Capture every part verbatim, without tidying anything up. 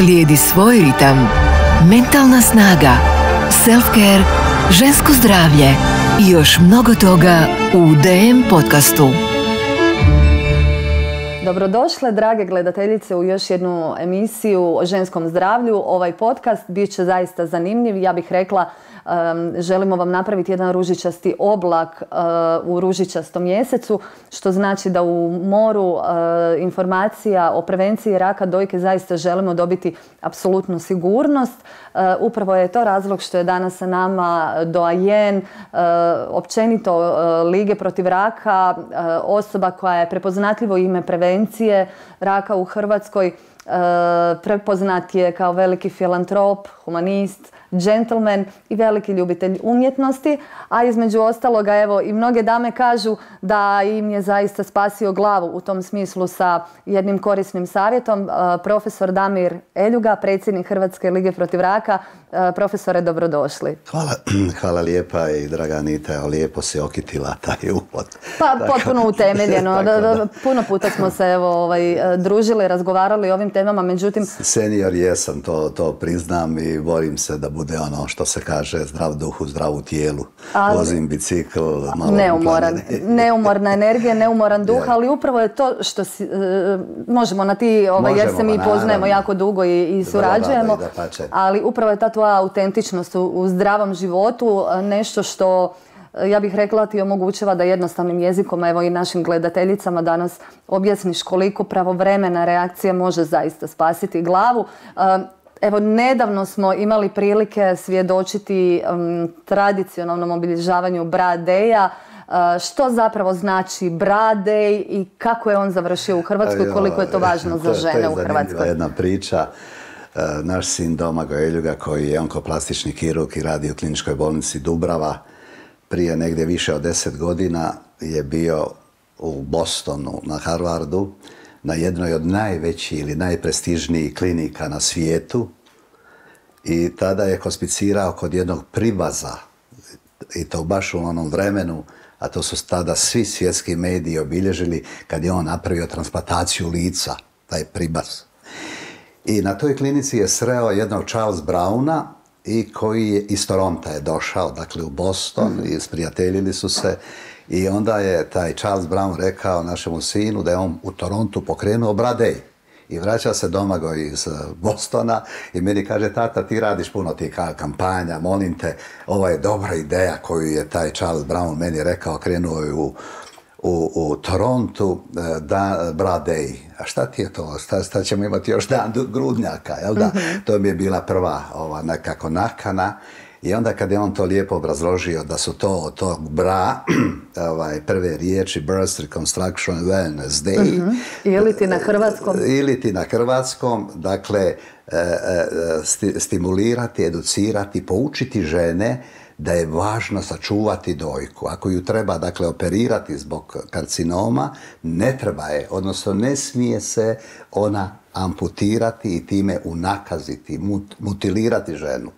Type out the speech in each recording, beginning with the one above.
Slijedi svoj ritam. Mentalna snaga, self-care, žensko zdravlje i još mnogo toga u D M podcastu. Dobrodošle, drage gledateljice, u još jednu emisiju o ženskom zdravlju. Ovaj podcast bit će zaista zanimljiv. Ja bih rekla, um, želimo vam napraviti jedan ružičasti oblak uh, u ružičastom mjesecu, što znači da u moru uh, informacija o prevenciji raka dojke zaista želimo dobiti apsolutnu sigurnost. Uh, upravo je to razlog što je danas sa nama doajen, uh, općenito uh, Lige protiv raka, uh, osoba koja je prepoznatljivo ime prevencije raka u Hrvatskoj. E, prepoznat je kao veliki filantrop, humanist, džentlmen i veliki ljubitelj umjetnosti, a između ostaloga evo i mnoge dame kažu da im je zaista spasio glavu u tom smislu sa jednim korisnim savjetom. E, profesor Damir Eljuga, predsjednik Hrvatske lige protiv raka. E, profesore, dobrodošli. Hvala, hvala lijepa i draga Anita, lijepo se okitila taj uvod. Pa potpuno utemeljeno. da, da. Puno puta smo se evo, ovaj, družili, razgovarali o ovim temama, međutim... Senior jesam, to, to priznam i borim se da bude ono što se kaže zdrav duh u zdravu tijelu. Ali, vozim bicikl, malo neumoran, neumorna energija, neumoran duh, ali upravo je to što si, uh, možemo na ti, ovaj, jer se mi poznajemo jako dugo i, i surađujemo, da, ali upravo je ta tvoja autentičnost u, u zdravom životu nešto što, ja bih rekla, ti omogućava da jednostavnim jezikom, evo i našim gledateljicama danas objasniš koliko pravovremena reakcija može zaista spasiti glavu. Evo, nedavno smo imali prilike svjedočiti um, tradicionalnom obilježavanju Bra Day-a. Uh, što zapravo znači Bra Day i kako je on završio u Hrvatskoj, koliko je to važno za žene u Hrvatskoj? To je zanimljiva jedna priča. Uh, naš sin Domagoj Eljuga, koji je onkoplastični kirurg i radi u kliničkoj bolnici Dubrava, prije negdje više od deset godina je bio u Bostonu na Harvardu, na jednoj od najvećih ili najprestižnijih klinika na svijetu, i tada je hospicirao kod jednog pribaza, i to baš u onom vremenu, a to su tada svi svjetski mediji obilježili kad je on napravio transplantaciju lica, taj pribaz. I na toj klinici je sreo jednog Charles Browna, i koji je iz Toronta je došao, dakle u Boston, i sprijateljili su se. I onda je taj Charles Brown rekao našemu sinu da je on u Torontu pokrenuo Bra Day. I vraća se Domagoj iz Bostona i meni kaže: tata, ti radiš puno tih kampanja, molim te, ovo je dobra ideja koju je taj Charles Brown meni rekao, krenuo je u, u, u Torontu, da, Bra Day. A šta ti je to? Šta, šta ćemo imati još dan grudnjaka, jel da? Mm-hmm. To mi je bila prva ova, nekako nakana. I onda kad je on to lijepo obrazložio da su to od tog bra, ovaj, prve riječi Birth Reconstruction Wellness Day. Uh-huh. Ili ti na hrvatskom. Ili ti na hrvatskom, dakle, sti, stimulirati, educirati, poučiti žene da je važno sačuvati dojku. Ako ju treba, dakle, operirati zbog karcinoma, ne treba je, odnosno ne smije se ona amputirati i time unakaziti, mut, mutilirati ženu.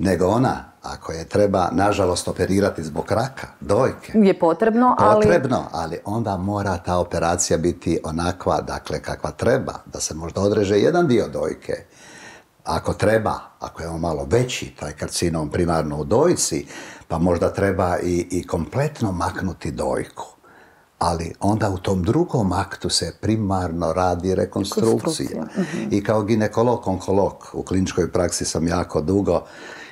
Nego ona, ako je treba, nažalost, operirati zbog raka, dojke. Je potrebno, ali... Potrebno, ali onda mora ta operacija biti onakva, dakle, kakva treba, da se možda odreže jedan dio dojke. Ako treba, ako je on malo veći, taj karcinom primarno u dojci, pa možda treba i, i kompletno maknuti dojku. Ali onda u tom drugom aktu se primarno radi rekonstrukcija. Uh-huh. I kao ginekolog, onkolog, u kliničkoj praksi sam jako dugo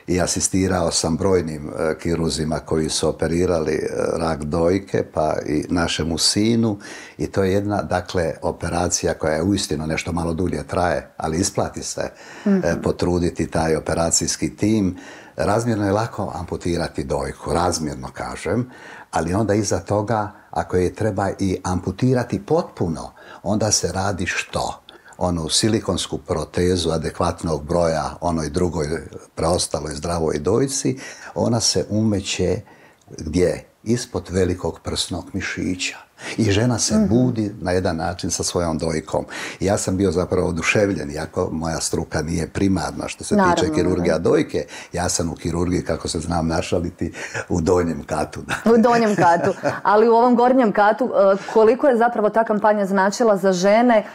i asistirao sam brojnim uh, kiruzima koji su operirali uh, rak dojke, pa i našemu sinu. I to je jedna, dakle, operacija koja je uistinu nešto malo dulje traje, ali isplati se mm-hmm. uh, potruditi taj operacijski tim. Razmjerno je lako amputirati dojku, razmjerno kažem, ali onda iza toga, ako je treba i amputirati potpuno, onda se radi što? Onu silikonsku protezu adekvatnog broja onoj drugoj preostaloj zdravoj dojci, ona se umeće gdje? Ispod velikog prsnog mišića. I žena se mm-hmm. budi na jedan način sa svojom dojkom. I ja sam bio zapravo oduševljen, iako moja struka nije primarna što se Naravno, tiče kirurgija dojke. Ja sam u kirurgiji, kako se znam našaliti, u donjem katu. U donjem katu. Ali u ovom gornjem katu, koliko je zapravo ta kampanja značila za žene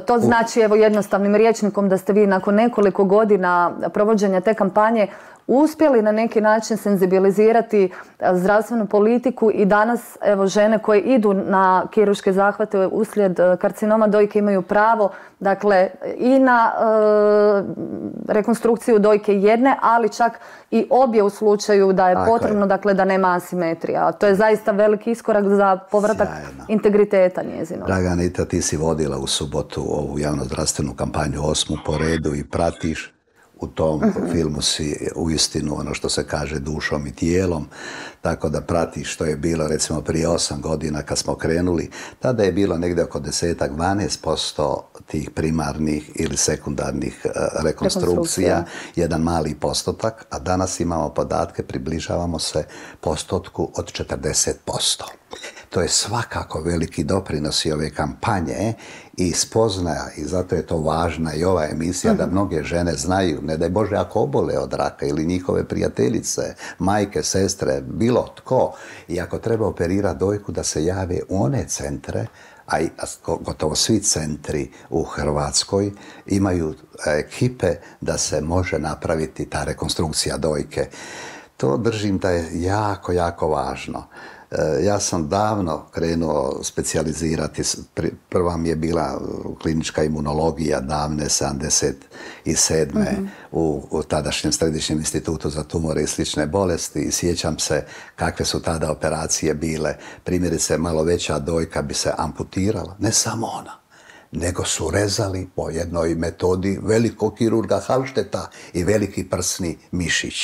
To znači, evo, jednostavnim rječnikom da ste vi nakon nekoliko godina provođenja te kampanje uspjeli na neki način senzibilizirati zdravstvenu politiku i danas, evo, žene koje idu na kirurške zahvate uslijed karcinoma dojke imaju pravo, dakle, i na e, rekonstrukciju dojke jedne, ali čak i obje u slučaju da je Tako potrebno, je. dakle, da nema asimetrija. To je zaista veliki iskorak za povratak Sjajno. integriteta njezinog. Draga Anita, ti si vodila u subotu ovu javnozdravstvenu kampanju osmu po redu i pratiš. U tom uh-huh. filmu si uistinu ono što se kaže dušom i tijelom, tako da pratiš što je bilo recimo prije osam godina kad smo krenuli. Tada je bilo negdje oko desetak, dvanaest posto tih primarnih ili sekundarnih uh, rekonstrukcija, rekonstrukcija, jedan mali postotak, a danas imamo podatke, približavamo se postotku od četrdeset posto. To je svakako veliki doprinos i ove kampanje i spoznaja, i zato je to važna i ova emisija, uh-huh. da mnoge žene znaju, ne daj Bože ako obole od raka ili njihove prijateljice, majke, sestre, bilo tko, i ako treba operirati dojku da se jave u one centre, a i gotovo svi centri u Hrvatskoj imaju ekipe da se može napraviti ta rekonstrukcija dojke. To držim da je jako, jako važno. Ja sam davno krenuo specijalizirati, prva mi je bila klinička imunologija davne sedamdeset sedme Mm-hmm. u, u tadašnjem Središnjem institutu za tumore i slične bolesti i sjećam se kakve su tada operacije bile. Primjerice, malo veća dojka bi se amputirala, ne samo ona, nego su rezali po jednoj metodi velikog kirurga Halšteta i veliki prsni mišić.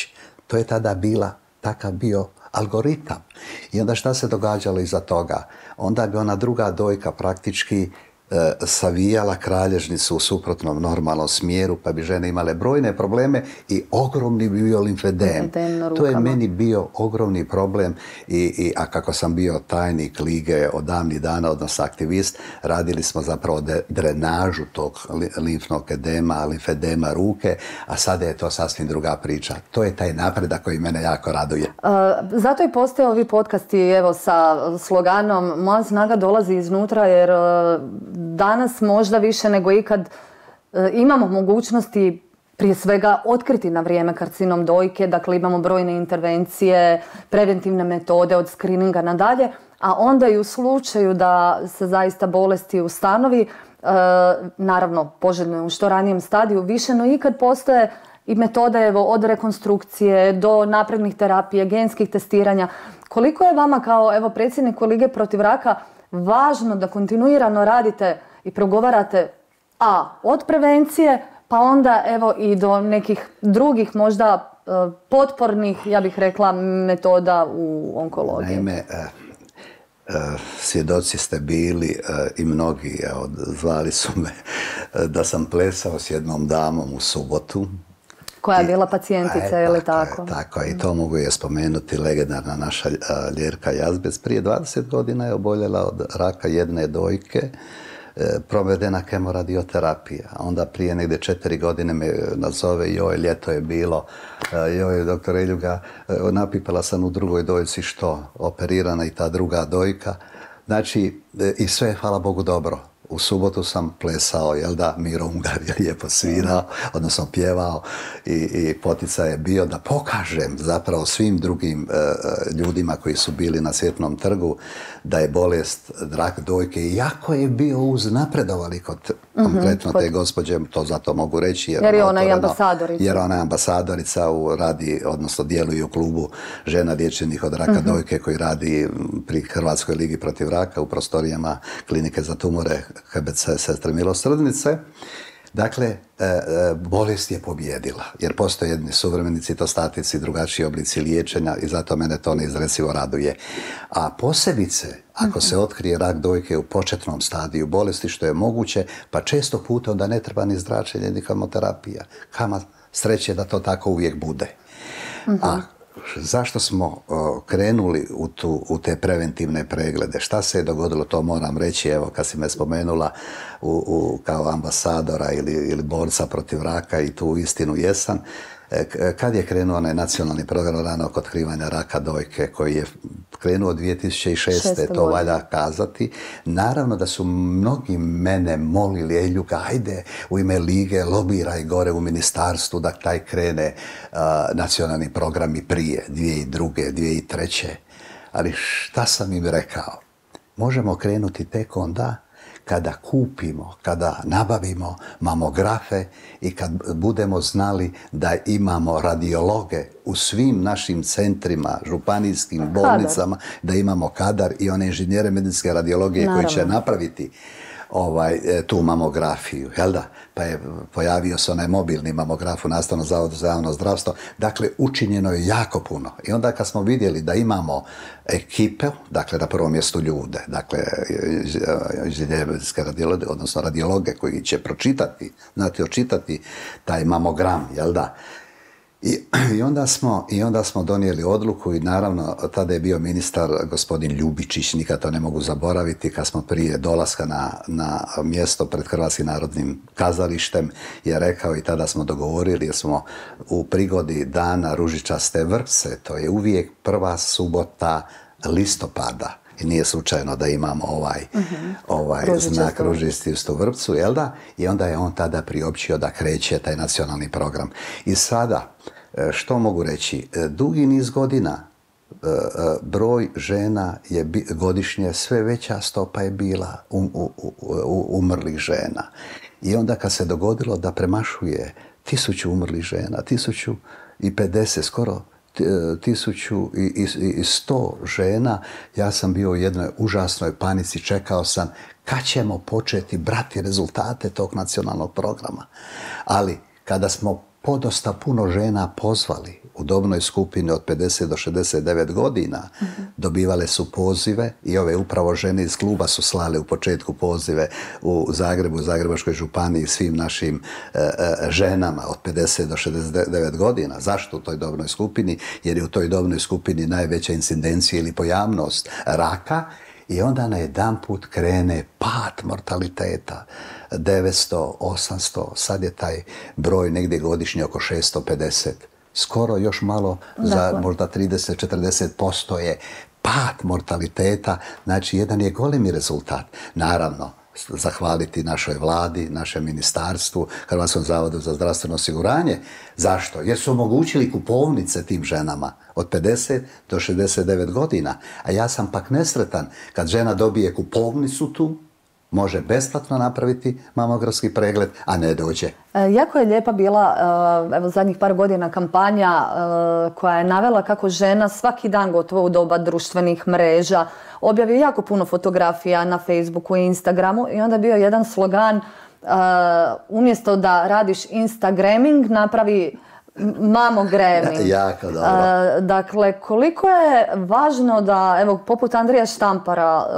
To je tada bila, takav bio algoritam. I onda šta se događalo iza toga? Onda bi ona druga dojka praktički e, savijala kralježnicu u suprotnom normalnom smjeru, pa bi žene imale brojne probleme i ogromni bi bio limfedem. To je meni bio ogromni problem, i, i, a kako sam bio tajnik lige od davnih dana, odnosno aktivist, radili smo zapravo de, drenažu tog limfnog edema, limfedema ruke, a sada je to sasvim druga priča. To je taj napredak koji mene jako raduje. Uh, zato i postoje ovi podcasti, evo, sa sloganom Moja snaga dolazi iznutra, jer uh, danas možda više nego ikad e, imamo mogućnosti prije svega otkriti na vrijeme karcinom dojke, dakle imamo brojne intervencije, preventivne metode od skrininga nadalje, a onda i u slučaju da se zaista bolesti ustanovi, e, naravno poželjno je u što ranijem stadiju, više no ikad postoje i metode, evo, od rekonstrukcije do naprednih terapije, genskih testiranja. Koliko je vama kao, evo, predsjedniku Lige protiv raka važno da kontinuirano radite i progovarate a od prevencije, pa onda evo i do nekih drugih možda e, potpornih, ja bih rekla, metoda u onkologiji? Naime, e, e, svjedoci ste bili e, i mnogi, evo, zvali su me e, da sam plesao s jednom damom u subotu. Koja je bila pacijentica, je li tako? Je, tako je, i to mogu je spomenuti, legendarna naša a, Ljerka Jazbec. Prije dvadeset godina je oboljela od raka jedne dojke, e, provedena kemoradioterapija. A onda prije negdje četiri godine me nazove, joj, ljeto je bilo, e, joj, doktor Eljuga, e, napipala sam u drugoj dojci, što? Operirana i ta druga dojka. Znači, e, i sve je, hvala Bogu, dobro. U subotu sam plesao, jel da, Miro Ungar je lijepo svirao, odnosno pjevao, i, i poticaj je bio da pokažem zapravo svim drugim e, ljudima koji su bili na Cvjetnom trgu da je bolest rak dojke, iako je bio uznapredovali kod mm-hmm, konkretno kod... te gospođe, to zato mogu reći. Jer, jer je ona i ambasadorica. Jer ona je ambasadorica, u radi, odnosno djeluje u klubu žena liječenih od raka mm-hmm. dojke koji radi pri Hrvatskoj ligi protiv raka u prostorijama klinike za tumore H B C Sestre milosrdnice. Dakle, e, e, bolest je pobjedila, jer postoje jedni suvremeni citostatici, drugačiji oblici liječenja i zato mene to neizrecivo raduje. A posebice, ako se otkrije rak dojke u početnom stadiju bolesti, što je moguće, pa često puta onda ne treba ni zračenje, ni kemoterapija. Kama sreće da to tako uvijek bude. A zašto smo uh, krenuli u, tu, u te preventivne preglede? Šta se je dogodilo, to moram reći, evo, kad si me spomenula u, u, kao ambasadora ili, ili borca protiv raka, i tu istinu jesam. E, kad je krenuo onaj nacionalni program ranog otkrivanja raka dojke, koji je krenuo dvije tisuće šeste. To valja kazati. Naravno da su mnogi mene molili, ej Ljuka, ajde u ime Lige lobiraj gore u ministarstvu da taj krene uh, nacionalni programi prije, dvije tisuće druge. dvije tisuće treće. Ali šta sam im rekao? Možemo krenuti tek onda kada kupimo, kada nabavimo mamografe i kad budemo znali da imamo radiologe u svim našim centrima, županijskim bolnicama, da imamo kadar i one inženjere medicinske radiologije koji će napraviti ovaj, tu mamografiju, jel da? Pa je pojavio se onaj mobilni mamograf u Nastavnom zavodu za javno zdravstvo. Dakle, učinjeno je jako puno. I onda kad smo vidjeli da imamo ekipe, dakle na prvom mjestu ljude, dakle inženjere medicinske radiologe, odnosno radiologe koji će pročitati, znati očitati taj mamogram, jel da? I, i, onda smo, I onda smo donijeli odluku i naravno tada je bio ministar gospodin Ljubičić, nikad to ne mogu zaboraviti, kad smo prije dolaska na, na mjesto pred Hrvatskim narodnim kazalištem je rekao i tada smo dogovorili jer smo u prigodi dana Ružičaste vrpce, to je uvijek prva subota listopada. I nije slučajno da imamo ovaj, uh-huh. ovaj znak ružičastu vrpcu, jel da? I onda je on tada priopćio da kreće taj nacionalni program. I sada, što mogu reći, dugi niz godina broj žena je godišnje, sve veća stopa je bila um, u, u, umrlih žena. I onda kad se dogodilo da premašuje tisuću umrlih žena, tisuću i pedeset, skoro tisuću i sto žena, ja sam bio u jednoj užasnoj panici, čekao sam kad ćemo početi brati rezultate tog nacionalnog programa. Ali kada smo podosta puno žena pozvali u dobnoj skupini od pedeset do šezdeset devet godina, mm-hmm. dobivale su pozive i ove upravo žene iz kluba su slale u početku pozive u Zagrebu, u Zagrebačkoj županiji svim našim e, e, ženama od pedeset do šezdeset devet godina. Zašto u toj dobnoj skupini? Jer je u toj dobnoj skupini najveća incidencija ili pojavnost raka. I onda na jedan put krene pad mortaliteta, devetsto, osamsto, sad je taj broj negdje godišnje oko šesto pedeset. Skoro još malo, dakle, za možda trideset do četrdeset posto je pad mortaliteta, znači jedan je golemi rezultat. Naravno, zahvaliti našoj vladi, našem ministarstvu, Hrvatskom zavodu za zdravstveno osiguranje. Zašto? Jer su omogućili kupovnice tim ženama od pedeset do šezdeset devet godina. A ja sam pak nesretan kad žena dobije kupovnicu tu, može besplatno napraviti mamografski pregled, a ne dođe. E, jako je lijepa bila, evo zadnjih par godina, kampanja e, koja je navela kako žena svaki dan gotovo u doba društvenih mreža objavi jako puno fotografija na Facebooku i Instagramu i onda je bio jedan slogan, e, umjesto da radiš Instagramming, napravi mamograming. Jako dobro. E, dakle, koliko je važno da, evo, poput Andrija Štampara, e,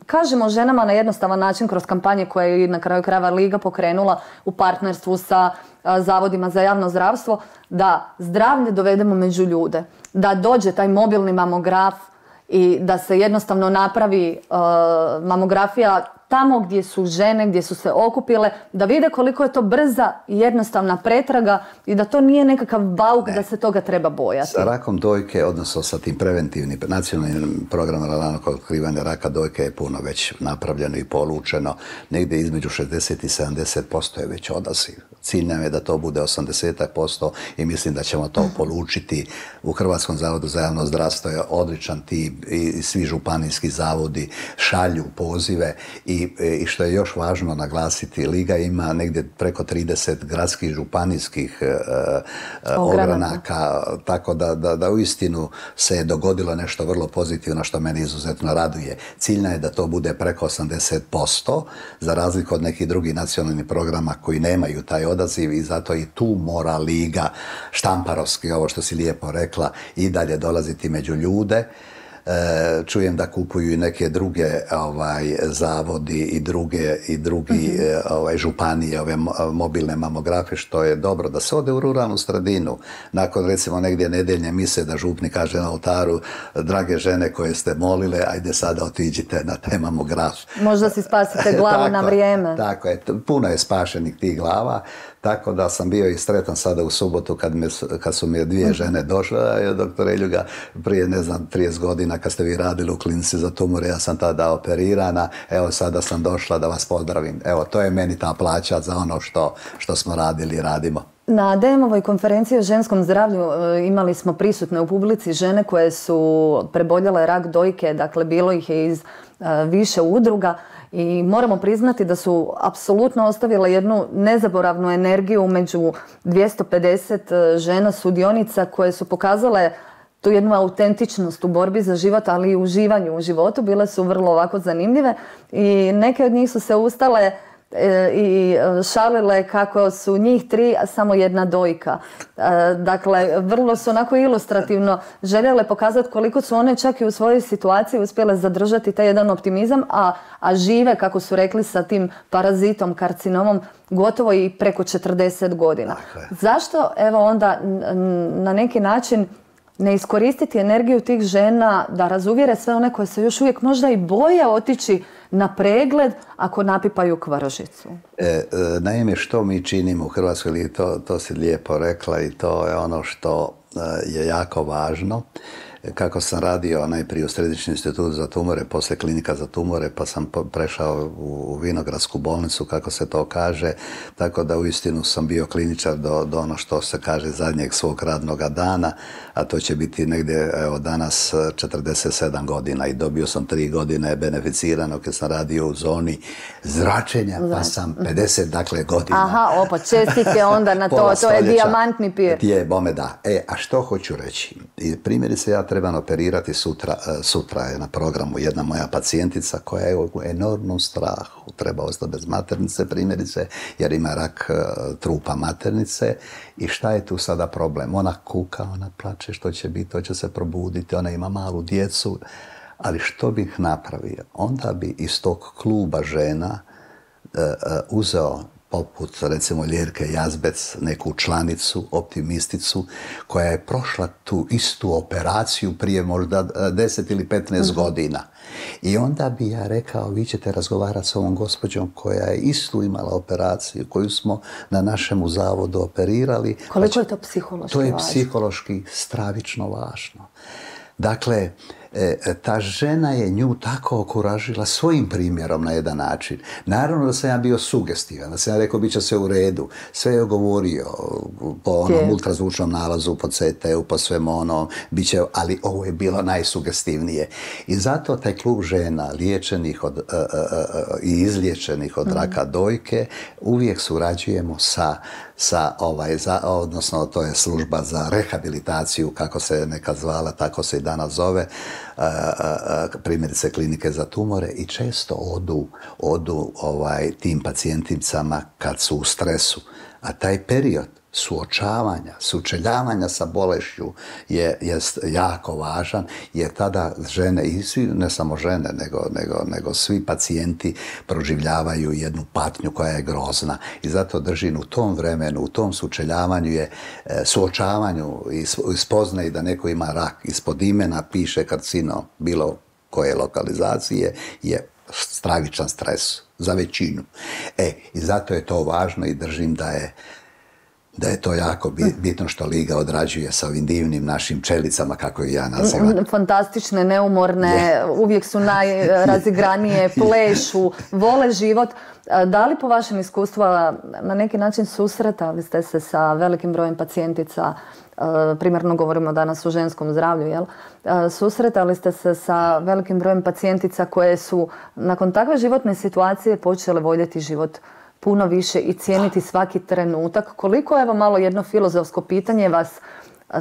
kažemo ženama na jednostavan način kroz kampanje koje je na kraju krajeva Liga pokrenula u partnerstvu sa a, zavodima za javno zdravstvo, da zdravlje dovedemo među ljude, da dođe taj mobilni mamograf i da se jednostavno napravi a, mamografija tamo gdje su žene, gdje su se okupile, da vide koliko je to brza i jednostavna pretraga i da to nije nekakav bauk, ne. Da se toga treba bojati. Sa rakom dojke, odnosno sa tim preventivnim nacionalnim programom ranog otkrivanja raka dojke je puno već napravljeno i polučeno. Negdje između šezdeset i sedamdeset posto je već odaziv. Cilj nam je da to bude osamdeset posto i mislim da ćemo to polučiti. U Hrvatskom zavodu za javno zdravstvo je odličan tim i svi županijski zavodi šalju pozive i I, i što je još važno naglasiti, Liga ima negdje preko trideset gradskih županijskih e, e, ogranaka, tako da, da, da uistinu se je dogodilo nešto vrlo pozitivno što mene izuzetno raduje. Ciljna je da to bude preko osamdeset posto, za razliku od nekih drugih nacionalnih programa koji nemaju taj odaziv i zato i tu mora Liga štamparovski, ovo što si lijepo rekla, i dalje dolaziti među ljude. E, čujem da kupuju i neke druge ovaj, zavodi i druge i drugi mm-hmm. ovaj, županije, ove mobilne mamografe, što je dobro da se ode u ruralnu sredinu. Nakon recimo negdje nedeljne mise da župnik kaže na oltaru, drage žene koje ste molile, ajde sada otiđite na taj mamograf. Možda si spasite glavu tako, na vrijeme. Tako je, puno je spašenih tih glava. Tako da sam bio i sretan sada u subotu kad, me, kad su mi dvije žene došle, doktore Ljuga, prije ne znam trideset godina godina kad ste vi radili u klinici za tumore, ja sam tada operirana, evo sada sam došla da vas pozdravim. Evo, to je meni ta plaća za ono što, što smo radili i radimo. Na D M-ovoj konferenciji o ženskom zdravlju imali smo prisutne u publici žene koje su preboljele rak dojke, dakle bilo ih je iz više udruga i moramo priznati da su apsolutno ostavile jednu nezaboravnu energiju među dvjesto pedeset žena sudionica koje su pokazale tu jednu autentičnost u borbi za život, ali i uživanju u životu. Bile su vrlo ovako zanimljive i neke od njih su se ustale i šalile kako su njih tri, a samo jedna dojka. Dakle, vrlo su onako ilustrativno željele pokazati koliko su one čak i u svojoj situaciji uspjele zadržati taj jedan optimizam, a, a žive, kako su rekli, sa tim parazitom, karcinomom, gotovo i preko četrdeset godina. Zašto, evo onda, na neki način ne iskoristiti energiju tih žena da razuvjere sve one koje se još uvijek možda i boje otići na pregled ako napipaju kvržicu? E, e, naime, što mi činimo u Hrvatskoj, to, to si lijepo rekla i to je ono što e, je jako važno. Kako sam radio najprije u Središnji institut za tumore, poslije klinika za tumore, pa sam prešao u Vinogradsku bolnicu, kako se to kaže, tako da uistinu sam bio kliničar do, do ono što se kaže zadnjeg svog radnog dana, a to će biti negdje, evo, danas četrdeset sedam godina i dobio sam tri godine beneficirano kad sam radio u zoni zračenja, pa sam pedeset dakle godina. Aha, opa, čestitke onda na to, to je dijamantni pir. Je, bome da. E, a što hoću reći? I primjerice, ja trebam operirati sutra, sutra je na programu jedna moja pacijentica koja je u enormnom strahu, treba ostati bez maternice primjerice, jer ima rak trupa maternice. I šta je tu sada problem? Ona kuka, ona plače, što će biti, to će se probuditi, ona ima malu djecu, ali što bih napravio? Onda bi iz tog kluba žena uh, uh, uzeo poput, recimo, Ljerke Jazbec, neku članicu, optimisticu, koja je prošla tu istu operaciju prije možda deset ili petnaest mm-hmm. godina. I onda bi ja rekao, vi ćete razgovarati s ovom gospođom koja je istu imala operaciju, koju smo na našemu zavodu operirali. Koliko je to psihološki važno? To je psihološki stravično važno. Dakle, ta žena je nju tako okuražila svojim primjerom na jedan način. Naravno da sam ja bio sugestivan, da sam ja rekao bit će sve u redu. Sve je govorio po onom ultrazvučnom nalazu, po C T-u, po svemu onom, bit će, ali ovo je bilo najsugestivnije. I zato taj klub žena liječenih od, uh, uh, i izliječenih od raka dojke uvijek surađujemo sa sa ovaj, za, odnosno to je služba za rehabilitaciju, kako se nekad zvala, tako se i danas zove, uh, uh, primjerice klinike za tumore, i često odu, odu ovaj, tim pacijenticama kad su u stresu. A taj period suočavanja, sučeljavanja sa bolešću je, je jako važan, jer tada žene, i svi, ne samo žene, nego, nego, nego svi pacijenti proživljavaju jednu patnju koja je grozna. I zato držim u tom vremenu, u tom sučeljavanju je, suočavanju i spoznaji da neko ima rak, ispod imena piše karcinom bilo koje lokalizacije, je stravičan stres za većinu. E, i zato je to važno i držim da je da je to jako bitno što Liga odrađuje sa ovim divnim našim čelicama, kako ih ja nazivam. Fantastične, neumorne, yeah. uvijek su najrazigranije, plešu, vole život. Da li po vašem iskustvu na neki način susretali ste se sa velikim brojem pacijentica, primjerno govorimo danas o ženskom zdravlju, jel? Susretali ste se sa velikim brojem pacijentica koje su nakon takve životne situacije počele voljeti život puno više i cijeniti svaki trenutak? Koliko, evo malo jedno filozofsko pitanje, vas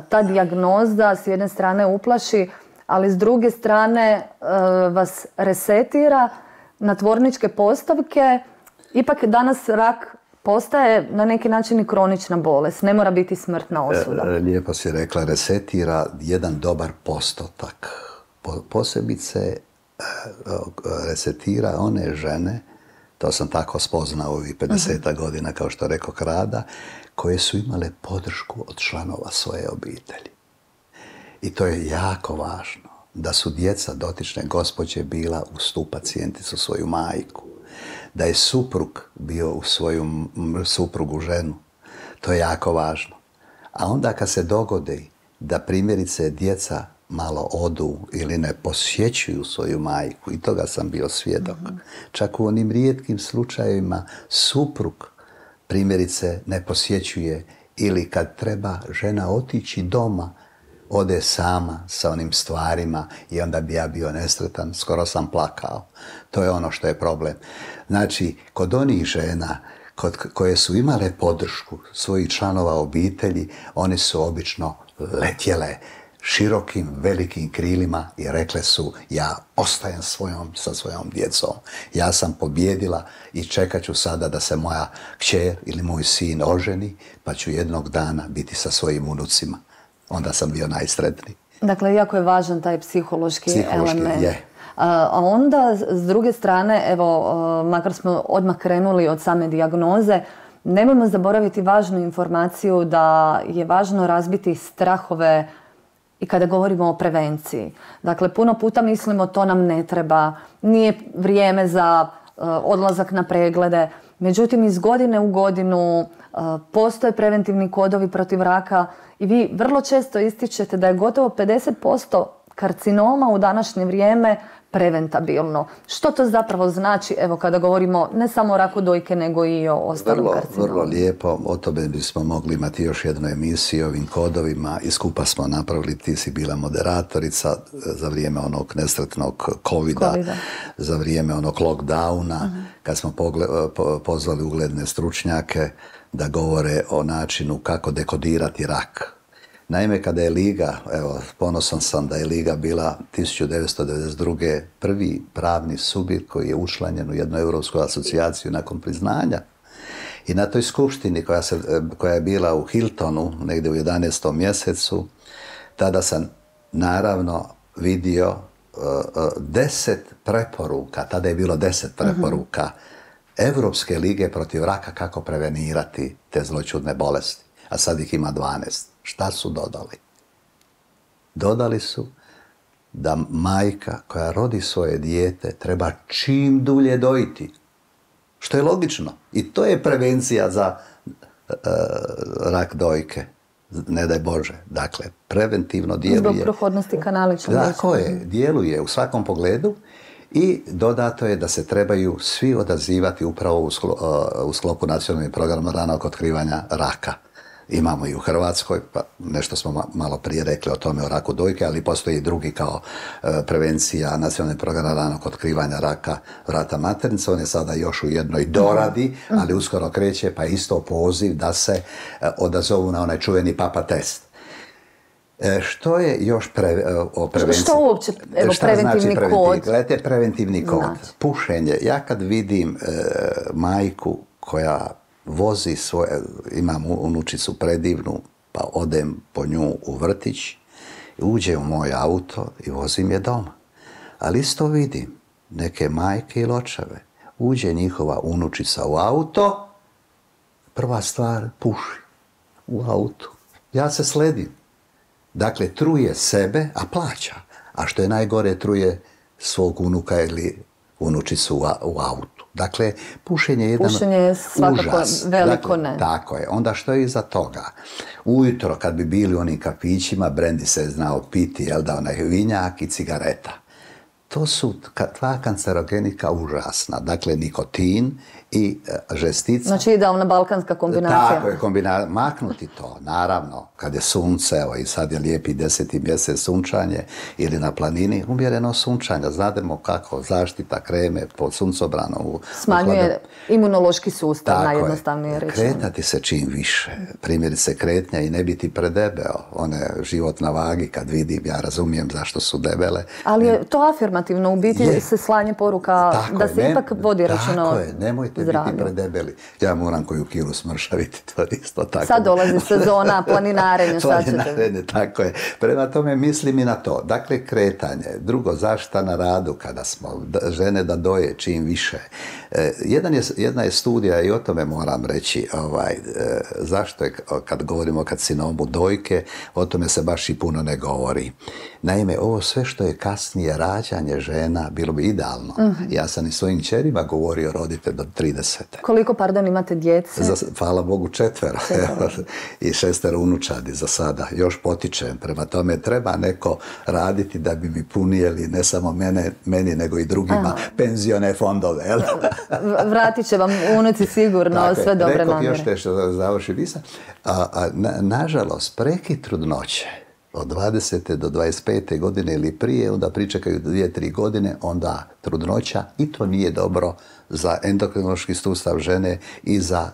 ta dijagnoza s jedne strane uplaši, ali s druge strane vas resetira na tvorničke postavke? Ipak danas rak postaje na neki način i kronična bolest, ne mora biti smrtna osuda. Lijepo si rekla, resetira jedan dobar postotak. Posebice resetira one žene, to sam tako spoznao ovih pedeset godina, kao što rekao rada, koje su imale podršku od članova svoje obitelji. I to je jako važno, da su djeca dotične gospođe bila uz tu pacijenticu, svoju majku, da je suprug bio u svoju suprugu ženu. To je jako važno. A onda kad se dogodi da primjerice djeca malo odu ili ne posjećuju svoju majku, i toga sam bio svjedok. Mm-hmm. Čak u onim rijetkim slučajevima suprug primjerice ne posjećuje, ili kad treba žena otići doma, ode sama sa onim stvarima i onda bi ja bio nesretan, skoro sam plakao. To je ono što je problem. Znači, kod onih žena kod, koje su imale podršku svojih članova obitelji, oni su obično letjele širokim, velikim krilima i rekle su: ja ostajem svojom, sa svojom djecom. Ja sam pobjedila i čekat ću sada da se moja kćer ili moj sin oženi, pa ću jednog dana biti sa svojim unucima. Onda sam bio najsretniji. Dakle, jako je važan taj psihološki, psihološki element. Je. A onda, s druge strane, evo, makar smo odmah krenuli od same dijagnoze, nemojmo zaboraviti važnu informaciju da je važno razbiti strahove i kada govorimo o prevenciji. Dakle, puno puta mislimo to nam ne treba, nije vrijeme za uh, odlazak na preglede. Međutim, iz godine u godinu uh, postoje preventivni kodovi protiv raka i vi vrlo često ističete da je gotovo pedeset posto karcinoma u današnje vrijeme preventabilno. Što to zapravo znači, evo, kada govorimo ne samo o raku dojke, nego i o ostalim karcinomima? Vrlo lijepo, o tome bismo mogli imati još jednu emisiju o ovim kodovima i skupa smo napravili, ti si bila moderatorica za vrijeme onog nesretnog covida, COVID-a. Za vrijeme onog lockdowna, uh-huh. kad smo pogle, po, pozvali ugledne stručnjake da govore o načinu kako dekodirati rak. Naime, kada je Liga, evo, ponosan sam da je Liga bila tisuću devetsto devedeset druge prvi pravni subjekt koji je učlanjen u jednu europsku asocijaciju nakon priznanja. I na toj skupštini koja, se, koja je bila u Hiltonu, negdje u jedanaestom mjesecu, tada sam naravno vidio uh, uh, deset preporuka, tada je bilo deset preporuka uh-huh. Europske lige protiv raka kako prevenirati te zloćudne bolesti, a sad ih ima dvanaest. Šta su dodali? Dodali su da majka koja rodi svoje dijete treba čim dulje dojiti. Što je logično. I to je prevencija za uh, rak dojke. Ne daj Bože. Dakle, preventivno djeluje. Zbog prohodnosti kanaličnog. Tako je. Djeluje u svakom pogledu. I dodato je da se trebaju svi odazivati upravo u, sklo, uh, u sklopu nacionalnog programa ranog otkrivanja raka. Imamo i u Hrvatskoj, pa nešto smo malo prije rekli o tome o raku dojke, ali postoji i drugi kao e, prevencija nacionalnog programa ranog otkrivanja raka vrata maternice. On je sada još u jednoj doradi, ali uskoro kreće, pa isto poziv da se e, odazovu na onaj čuveni papa test. E, što je još pre, o prevenciji? Što uopće, evo, šta preventivni znači preventiv? kod? Gledajte, preventivni kod. Znači. Pušenje. Ja kad vidim e, majku koja vozi svoje, imam unučicu predivnu, pa odem po nju u vrtić, uđe u moj auto i vozim je doma. Ali isto vidim neke majke ili očeve. Uđe njihova unučica u auto, prva stvar puši u autu. Ja se sledim. Dakle, truje sebe, a plaća. A što je najgore, truje svog unuka ili unučicu u autu. Dakle, pušenje je jedan pušenje je svakako užas. Veliko dakle, ne. Tako je. Onda što je iza toga? Ujutro kad bi bili u onim kafićima, brendi se je znao piti, jel da, onaj vinjak i cigareta. To su dva kancerogenika užasna. Dakle, nikotin i e, žestica. Znači idealna balkanska kombinacija. Tako je, kombina... maknuti to, naravno, kad je sunce, evo i sad je lijepi deseti mjesec sunčanje ili na planini, umjereno sunčanje, znademo kako, zaštita kreme pod suncobranom. Smanjuje imunološki sustav, najjednostavnije reći. Kretati se čim više, primjerice kretnja i ne biti predebeo, one život na vagi kad vidim, ja razumijem zašto su debele. Ali je to afirmativno, u biti je. Se slanje poruka tako da se je, ipak vodi računa o tako je, nemojte zdravlju. Biti predebeli. Ja moram koju kilu smršaviti, to je isto tako. Sad dolazi sezona planinarenja. Planinarenje, tako je. Prema tome mislim i na to. Dakle, kretanje. Drugo, zaštita na radu kada smo žene da doje čim više. E, jedan je, jedna je studija i o tome moram reći ovaj, e, zašto je, kad govorimo o karcinomu dojke, o tome se baš i puno ne govori. Naime, ovo sve što je kasnije rađanje manje žena, bilo bi idealno. Uh-huh. Ja sam i svojim čerima govorio rodite do tridesete. Koliko, pardon, imate djece? Za, hvala Bogu četvero. I šestero unučadi za sada. Još potičem. Prema tome treba neko raditi da bi mi punijeli ne samo mene, meni, nego i drugima Aha. penzione fondove. Vratit će vam unuci sigurno dakle, sve dobre namjere. Rekao još nešto da završi visa. A, a, na, nažalost, prekid trudnoće od dvadesete do dvadeset pete godine ili prije, onda pričekaju dvije, tri godine, onda trudnoća i to nije dobro za endokrinološki sustav žene i za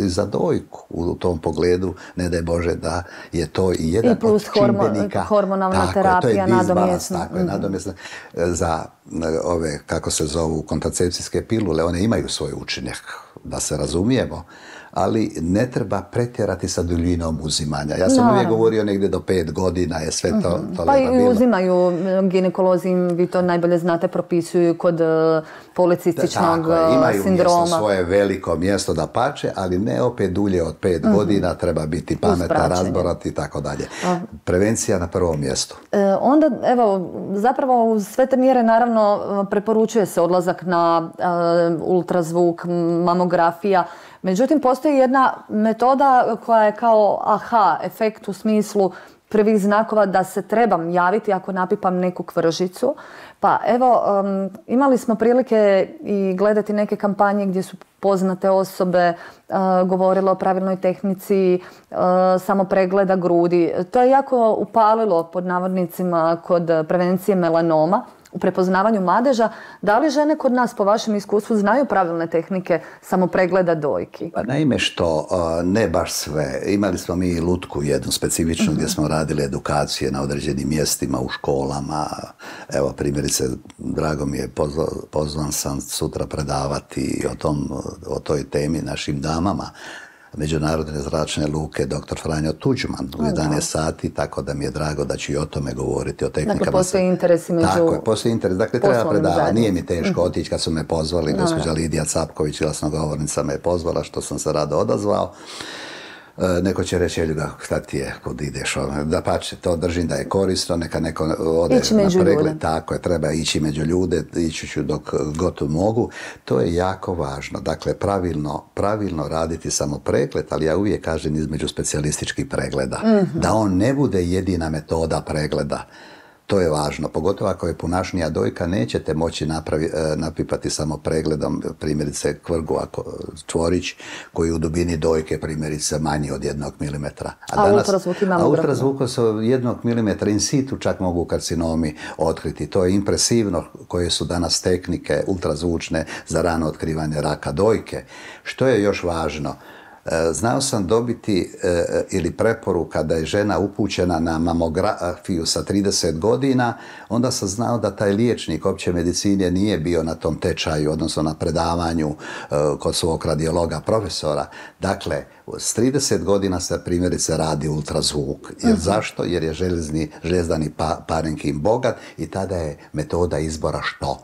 i za dojku u tom pogledu, ne daj Bože da je to i jedan I plus od čimbenika. hormonalna tako, terapija, nadomjesna. Tako je, nadomjesna. Za ove, kako se zovu, kontracepcijske pilule, one imaju svoj učinak, da se razumijemo, ali ne treba pretjerati sa duljinom uzimanja. Ja sam no. uvijek govorio negdje do pet godina je sve to mm-hmm. tolerabilo. Pa i uzimaju ginekolozi, vi to najbolje znate, propisuju kod policističnog Tako, imaju sindroma. Imaju mjesto, svoje veliko mjesto da pače, ali ne opet dulje od pet mm-hmm. godina, treba biti pametan, razborat i tako dalje. Prevencija na prvom mjestu. E, onda, evo, zapravo uz sve te mjere naravno preporučuje se odlazak na uh, ultrazvuk, mamografija. Međutim, postoji jedna metoda koja je kao aha efekt u smislu prvih znakova da se trebam javiti ako napipam neku kvržicu. Pa evo, um, imali smo prilike i gledati neke kampanje gdje su poznate osobe uh, govorile o pravilnoj tehnici uh, samo pregleda grudi. To je jako upalilo pod navodnicima kod prevencije melanoma. U prepoznavanju madeža, da li žene kod nas po vašem iskustvu znaju pravilne tehnike samo pregleda dojki? Pa naime što, ne baš sve. Imali smo mi i lutku jednu specifičnu uh-huh. gdje smo radili edukacije na određenim mjestima u školama. Evo primjerice, drago mi je, pozvan, pozvan sam sutra predavati o, tom, o toj temi našim damama. Međunarodne zračne luke doktor Franjo Tuđman u jedanaest sati, tako da mi je drago da ću i o tome govoriti, o tehnikama. Dakle, postoji interes među Tako je, postoji interes. Dakle, treba predavati. Nije mi teško otići kad su me pozvali. No, gospođa Lidija Capković, glasnogovornica, me je pozvala, što sam se rado odazvao. Neko će reći, Eljuga, šta ti je, kud ideš? Da pače, to držim da je korisno, neka neko ode ići na pregled. Ljude. Tako je, treba ići među ljude, ići ću dok god mogu. To je jako važno. Dakle, pravilno, pravilno raditi samo pregled, ali ja uvijek kažem između specijalističkih pregleda. Mm-hmm. Da on ne bude jedina metoda pregleda. To je važno, pogotovo ako je punašnija dojka, nećete moći napravi, napipati samo pregledom, primjerice kvrgu, ako čvorić koji u dubini dojke primjerice manji od jednog milimetra. A, a ultrazvuk ima A ultrazvukom se jednog milimetra in situ čak mogu karcinomi otkriti. To je impresivno koje su danas tehnike ultrazvučne za rano otkrivanje raka dojke. Što je još važno? Znao sam dobiti e, ili preporuka da je žena upućena na mamografiju sa trideset godina, onda sam znao da taj liječnik opće medicine nije bio na tom tečaju, odnosno na predavanju e, kod svog radiologa profesora. Dakle, s trideset godina se primjerice radi ultrazvuk. Jer uh-huh. Zašto? Jer je železni, železdani pa, parenkim bogat i tada je metoda izbora što?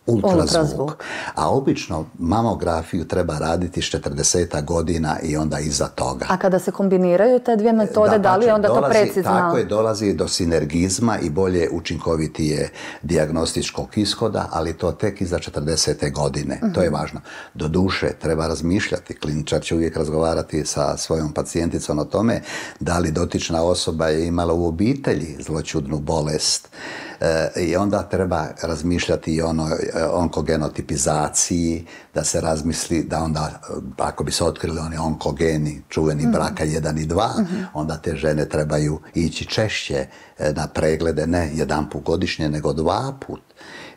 Ultrazvuk. Ultrazvuk. A obično mamografiju treba raditi s četrdeset godina i onda iza toga. A kada se kombiniraju te dvije metode, da, da li je onda dolazi, to precizno? Tako je, dolazi do sinergizma i bolje učinkovitije dijagnostičkog ishoda, ali to tek iza četrdesete godine. Uh-huh. To je važno. Do duše treba razmišljati. Kliničar će uvijek razgovarati sa svojom pacijenticom o tome da li dotična osoba je imala u obitelji zloćudnu bolest. E, I onda treba razmišljati i ono onkogenotipizaciji, da se razmisli da onda, ako bi se otkrili oni onkogeni, čuveni mm-hmm. braka jedan i dva, mm-hmm. onda te žene trebaju ići češće na preglede, ne jedan put godišnje, nego dva put.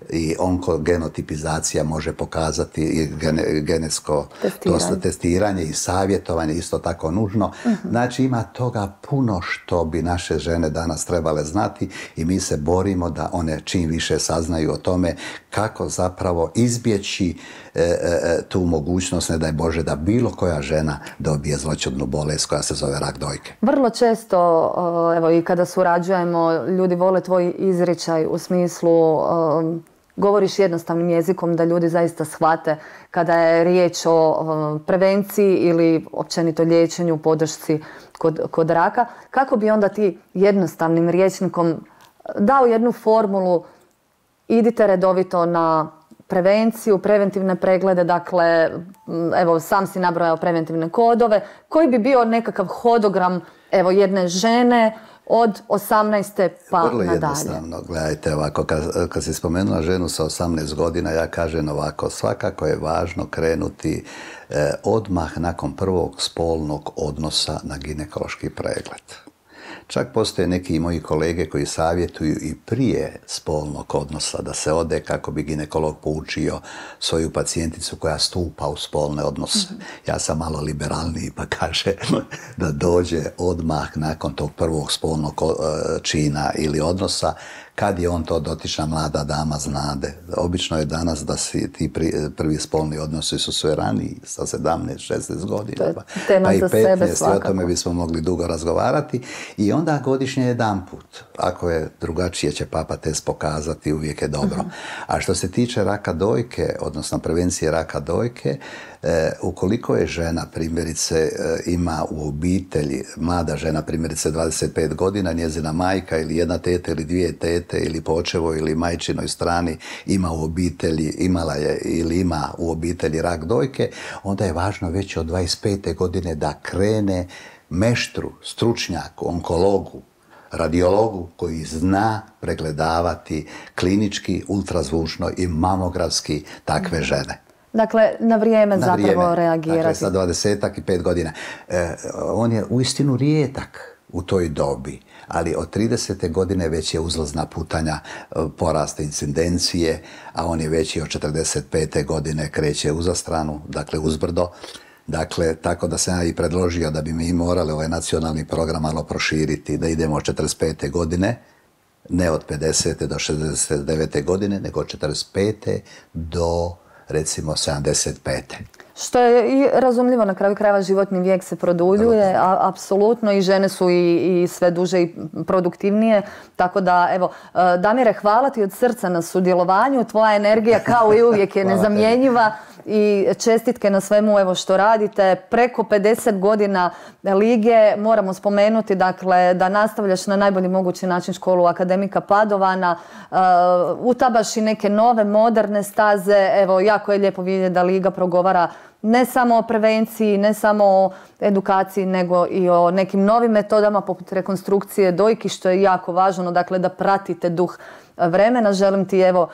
I onkogenotipizacija može pokazati i gene, genetsko testiranje. testiranje i savjetovanje isto tako nužno. Uh-huh. Znači ima toga puno što bi naše žene danas trebale znati i mi se borimo da one čim više saznaju o tome kako zapravo izbjeći e, e, tu mogućnost, ne daj Bože, da bilo koja žena dobije zloćudnu bolest koja se zove rak dojke. Vrlo često, evo i kada surađujemo, ljudi vole tvoj izričaj u smislu um, govoriš jednostavnim jezikom da ljudi zaista shvate kada je riječ o prevenciji ili općenito liječenju, podršci kod, kod raka. Kako bi onda ti jednostavnim rječnikom dao jednu formulu idite redovito na prevenciju, preventivne preglede, dakle, evo, sam si nabrojao preventivne kodove, koji bi bio nekakav hodogram, evo, jedne žene od osamnaeste pa nadalje. Vrlo jednostavno, gledajte ovako, kad, kad si spomenula ženu sa osamnaest godina, ja kažem ovako, svakako je važno krenuti eh, odmah nakon prvog spolnog odnosa na ginekološki pregled. Čak postoje neki moji kolege koji savjetuju i prije spolnog odnosa da se ode kako bi ginekolog poučio svoju pacijenticu koja stupa u spolne odnose. Mm-hmm. Ja sam malo liberalniji pa kaže da dođe odmah nakon tog prvog spolnog čina ili odnosa, kad je on to dotična mlada dama znade. Obično je danas da si ti pri, prvi spolni odnosi su sve raniji, sa sedamnaest šesnaest godina, pa, pa i petnaest, o tome bismo mogli dugo razgovarati. I onda godišnje jedan put. Ako je drugačije će papa test pokazati, uvijek je dobro. Uh-huh. A što se tiče raka dojke, odnosno prevencije raka dojke, e, ukoliko je žena, primjerice, e, ima u obitelji, mlada žena, primjerice dvadeset pet godina, njezina majka ili jedna teta ili dvije tete ili po očevoj ili majčinoj strani ima u obitelji, imala je ili ima u obitelji rak dojke, onda je važno već od dvadeset pete godine da krene meštru, stručnjaku, onkologu, radiologu koji zna pregledavati klinički, ultrazvučno i mamografski takve žene. Dakle, na vrijeme na zapravo vrijeme. reagirati. Dakle, sa dvadesetak i pet godina. E, on je uistinu rijetak u toj dobi, ali od tridesete godine već je uzlazna putanja porasta incidencije, a on je već i od četrdeset pete godine kreće uzastranu, dakle uzbrdo. Dakle, tako da sam ja i predložio da bi mi morali ovaj nacionalni program malo proširiti, da idemo od četrdeset pete godine, ne od pedesete do šezdeset devete godine, nego od četrdeset pete do, recimo, sedamdeset pete Što je i razumljivo, na kraju krajeva životni vijek se produljuje, a, apsolutno, i žene su i, i sve duže i produktivnije. Tako da, evo, Damire, hvala ti od srca na sudjelovanju, tvoja energija kao i uvijek je nezamjenjiva i čestitke na svemu evo što radite. Preko pedeset godina lige, moramo spomenuti, dakle, da nastavljaš na najbolji mogući način školu akademika Padovana, uh, utabaš i neke nove, moderne staze. Evo, jako je lijepo vidjeti da liga progovara ne samo o prevenciji, ne samo o edukaciji, nego i o nekim novim metodama poput rekonstrukcije dojki, što je jako važno, dakle, da pratite duh vremena. Želim ti, evo,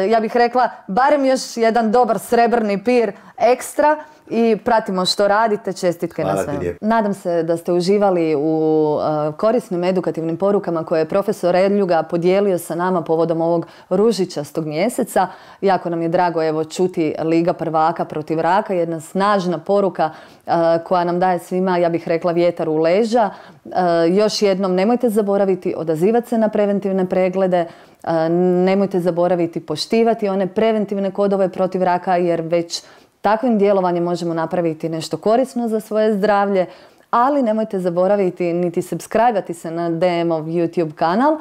ja bih rekla, barem još jedan dobar srebrni pir ekstra i pratimo što radite. Čestitke na svemu. Nadam se da ste uživali u korisnim edukativnim porukama koje je profesor Edljuga podijelio sa nama povodom ovog ružičastog mjeseca. Jako nam je drago, evo, čuti Liga prvaka protiv raka, jedna snažna poruka koja nam daje svima, ja bih rekla, vjetar u leđa. Još jednom, nemojte zaboraviti odazivati se na preventivne preglede, nemojte zaboraviti poštivati one preventivne kodove protiv raka, jer već takvim djelovanjem možemo napraviti nešto korisno za svoje zdravlje, ali nemojte zaboraviti niti subscribe-ati se na D M-ov YouTube kanal.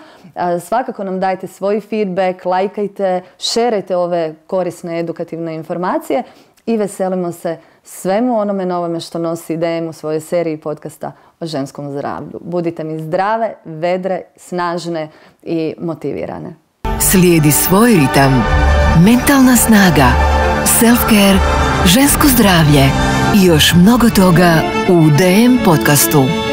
Svakako nam dajte svoj feedback, lajkajte, šerajte ove korisne edukativne informacije i veselimo se svemu onome novome što nosi D M u svojoj seriji podcasta o ženskom zdravlju. Budite mi zdrave, vedre, snažne i motivirane. Slijedi svoj ritam, mentalna snaga, self-care, žensko zdravlje i još mnogo toga u D M podcastu.